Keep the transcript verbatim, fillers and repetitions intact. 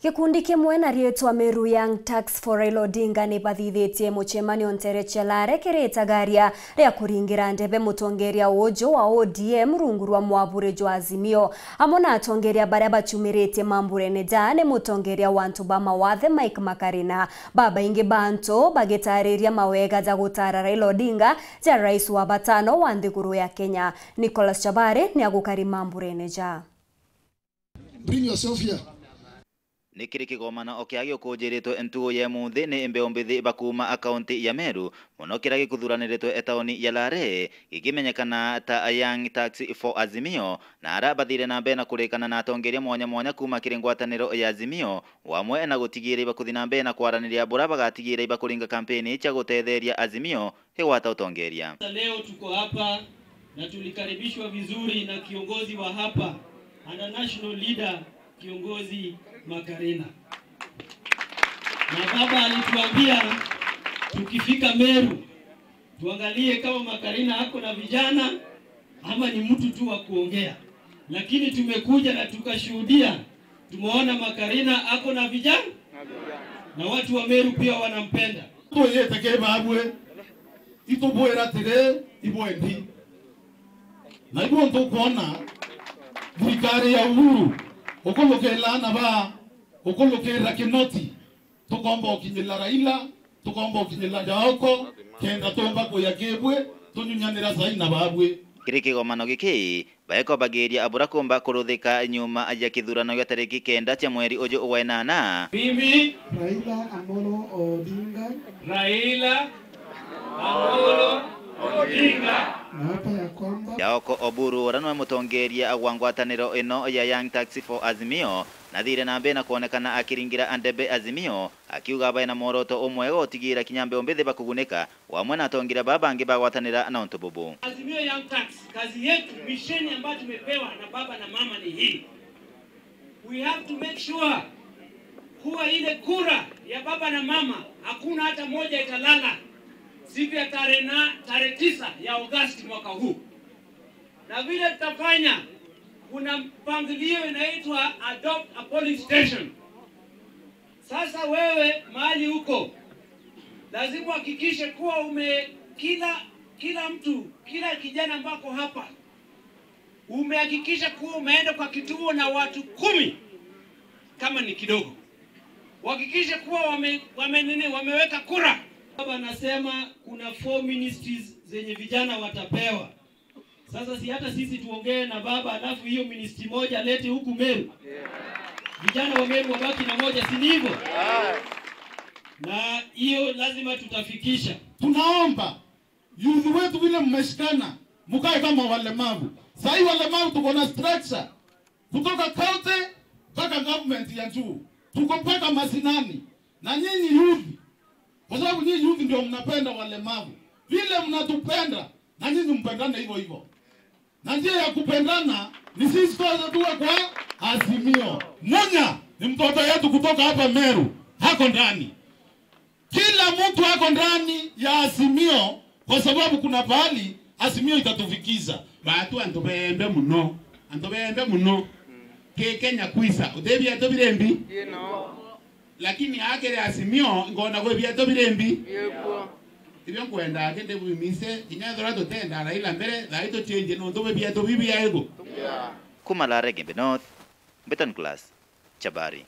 Gikundi kimwe na riitwa Meru Young Turks for Raila Odinga ni bathithitie mucemanio ntere cia Lare kiri itagaria ria kuringira ndebe mutongeria uju wa O D M rungu rwa mwaburi jwa Azimio. Amwe na atongeria baria bachumiritie mamburene ja ni mutongeria wa antu ba mawathe Mike Makarina. Babaingi ba antu bagitariria mawega ja gutara Raila Odinga ja rais wa batano wa nthiguru ya Kenya. Nicholas Chabari ni agukari mamburene ja. Bring yourself here. Ni kiri kigomano o kiria giukunjiritwe ntugu ya imunthi ni mbeu mbithi ba kuuma kaunti ya Meru, mono kiria gikuthuraniritwe tauni ya Lare, gikimenyekana ta Young Turks for Azimio, na aria bathire na mbere na kurikana na atongeria mwanya mwanya kuuma kiri ngwataniro ya Azimio, o amwe na gutigiira ibakuthi na mbere na kwaraniria buria bagatigiira ibakuringa kampeni cia gutetheria Azimio igwata utongeria. Leo tuko hapa na tulikaribishwa vizuri na kiongozi wa hapa, and a national leader, kiongozi Makarina. Na baba alituambia tukifika Meru, tuangalie kama Makarina ako na vijana ama ni mtu tu wa kuongea. Lakini tumekuja na tukashuhudia, tumeona Makarina ako na vijana, na watu wa Meru pia wanampenda. Twiyite ki babwe, itubwira atiri, ibwendi. Na ibu ntukwona thirikari ya Uhuru, ukulukira ana ba, ukulukira Kinoti, tukomba ukinyira Raila, tukomba ukinyira Jaoko, kenda tumba kuya kibwe, tunyunyanira saina babwe. Kiri kigomano giki, baekobagiria abura kumba kuruthika nyuma ya kithurano gia tariki kenda cia mweri uju wa inana. Mimi Raila Amolo Odinga. Raila Amolo Odinga. Naapa ya kwamba Jaoko Oburu, uria niwe mutongeria wa ngwataniro ino ya Young Turks for Azimio, nathire na mbere na kwonekana akiringira ndebe Azimio, akiuga bae na mworoto umwe wa gutigiira kinya mbeu mbithi bakugunika, o amwe na atongeria baa bangi bagwatanira na untu bubu. Azimio Young Turks, kazi yetu, misheni ambayo tumepewa na baba na mama ni hii. We have to make sure kuwa ile kura ya baba na mama hakuna hata moja italala siku ya tarehe na, tarehe tisa ya Agosti mwaka huu. Na vile tutafanya, kuna mpangilio inaitwa adopt a polling station. Sasa wewe mahali uko, lazima uhakikishe kuwa ume-, kila, kila mtu, kila kijana ambako hapa, umehakikisha kuwa umeenda kwa kituo na watu kumi, kama ni kidogo. Uhakikishe kuwa wame-, wame-, nini, wameweka kura. Baba anasema kuna four ministries zenye vijana watapewa. Sasa si hata sisi tuongee na baba, alafu hiyo ministry moja alete huku Meru? Vijana wa Meru wabaki na moja, si ni hivyo? Na hiyo lazima tutafikisha. Tunaomba youth wetu vile mmeshikana, mkae kama walemavu. Sahii walemavu tuko na structure. Kutoka county mpaka government ya juu. Tuko mpaka mashinani. Na nyinyi youth, kwa sababu nyinyi youth ndio mnapenda walemavu. Vile mnatupenda, na nyinyi mpendane hivyo hivyo. Na njia ya kupendana ni sisi sote tuwe kwa Azimio. Munya ni mtoto yetu kutoka hapa Meru, hako ndani. Kila mtu ako ndani ya Azimio, kwa sababu kuna pahali Azimio itatufikisha. Batu antu bembe muno, antu bembe muno. Ki Kenya kwisa, uti biatu biri mbi? Lakini akiri Azimio, ngona gwi biatu biri mbi? Ibio nkwenda akende bwimise, kinya ethirwa tutenda Raila mbere, thaai tuchenjie nontu bwi biatu bibiaigu. Kuma Lare Igembe North, Mbeton Class, Chabari.